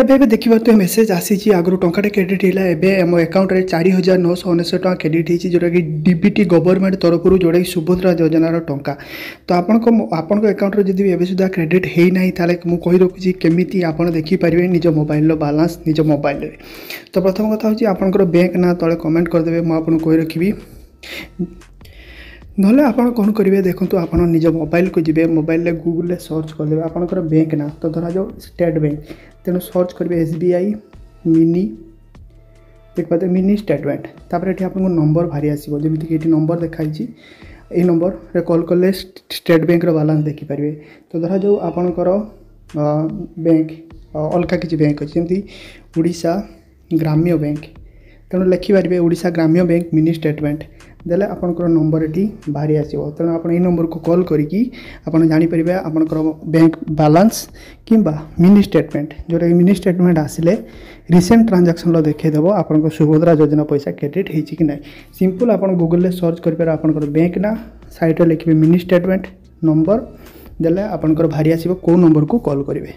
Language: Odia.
ଏବେ ଏବେ ଦେଖିପାରୁଥିବେ ମେସେଜ୍ ଆସିଛି। ଆଗରୁ ଟଙ୍କାଟେ କ୍ରେଡ଼ିଟ୍ ହେଲା, ଏବେ ଆମ ଆକାଉଣ୍ଟରେ 4999 ଟଙ୍କା କ୍ରେଡ଼ିଟ୍ ହେଇଛି, ଯେଉଁଟାକି ଡିବିଟି ଗଭର୍ଣ୍ଣମେଣ୍ଟ ତରଫରୁ, ଯେଉଁଟାକି ସୁଭଦ୍ରା ଯୋଜନାର ଟଙ୍କା। ତ ଆପଣଙ୍କ ଆକାଉଣ୍ଟରେ ଯଦି ଏବେ ସୁଦ୍ଧା କ୍ରେଡ଼ିଟ୍ ହେଇନାହିଁ, ତାହେଲେ ମୁଁ କହି ରଖୁଛି କେମିତି ଆପଣ ଦେଖିପାରିବେ ନିଜ ମୋବାଇଲର ବାଲାନ୍ସ ନିଜ ମୋବାଇଲରେ। ତ ପ୍ରଥମ କଥା ହେଉଛି, ଆପଣଙ୍କର ବ୍ୟାଙ୍କ ନାଁ ତଳେ କମେଣ୍ଟ କରିଦେବେ, ମୁଁ ଆପଣଙ୍କୁ କହି ରଖିବି। ନହେଲେ ଆପଣ କ'ଣ କରିବେ ଦେଖନ୍ତୁ, ଆପଣ ନିଜ ମୋବାଇଲକୁ ଯିବେ, ମୋବାଇଲରେ ଗୁଗୁଲରେ ସର୍ଚ୍ଚ କରିଦେବେ ଆପଣଙ୍କର ବ୍ୟାଙ୍କ ନାଁ। ତ ଧରାଯାଉ ଷ୍ଟେଟ୍ ବ୍ୟାଙ୍କ, ତେଣୁ ସର୍ଚ୍ଚ କରିବେ ଏସ୍ ବି I mini, ଦେଖିପାରୁଥିବେ ମିନି ଷ୍ଟେଟମେଣ୍ଟ। ତାପରେ ଏଠି ଆପଣଙ୍କୁ ନମ୍ବର ବାହାରି ଆସିବ, ଯେମିତିକି ଏଠି ନମ୍ବର ଦେଖାଇଛି। ଏଇ ନମ୍ବରରେ କଲ୍ କଲେ ଷ୍ଟେଟ୍ ବ୍ୟାଙ୍କର ବାଲାନ୍ସ ଦେଖିପାରିବେ। ତ ଧରାଯାଉ ଆପଣଙ୍କର ବ୍ୟାଙ୍କ ଅଲଗା କିଛି ବ୍ୟାଙ୍କ ଅଛି, ଯେମିତି ଓଡ଼ିଶା ଗ୍ରାମ୍ୟ ବ୍ୟାଙ୍କ, ତେଣୁ ଲେଖିପାରିବେ ଓଡ଼ିଶା ଗ୍ରାମ୍ୟ ବ୍ୟାଙ୍କ ମିନି ଷ୍ଟେଟମେଣ୍ଟ ଦେଲେ ଆପଣଙ୍କର ନମ୍ବର ଏଠି ବାହାରି ଆସିବ। ତେଣୁ ଆପଣ ଏଇ ନମ୍ବରକୁ କଲ୍ କରିକି ଆପଣ ଜାଣିପାରିବେ ଆପଣଙ୍କର ବ୍ୟାଙ୍କ ବାଲାନ୍ସ କିମ୍ବା ମିନି ଷ୍ଟେଟମେଣ୍ଟ, ଯେଉଁଟାକି ମିନି ଷ୍ଟେଟମେଣ୍ଟ ଆସିଲେ ରିସେଣ୍ଟ ଟ୍ରାଞ୍ଜାକ୍ସନ୍ର ଦେଖାଇଦେବ ଆପଣଙ୍କ ସୁଭଦ୍ରା ଯୋଜନା ପଇସା କ୍ରେଡ଼ିଟ୍ ହେଇଛି କି ନାହିଁ। ସିମ୍ପଲ୍ ଆପଣ ଗୁଗଲରେ ସର୍ଚ୍ଚ କରିପାରିବେ ଆପଣଙ୍କର ବ୍ୟାଙ୍କ ନାଁ, ସାଇଡ଼୍ରେ ଲେଖିବେ ମିନି ଷ୍ଟେଟମେଣ୍ଟ, ନମ୍ବର ଦେଲେ ଆପଣଙ୍କର ବାହାରି ଆସିବ କେଉଁ ନମ୍ବରକୁ କଲ୍ କରିବେ।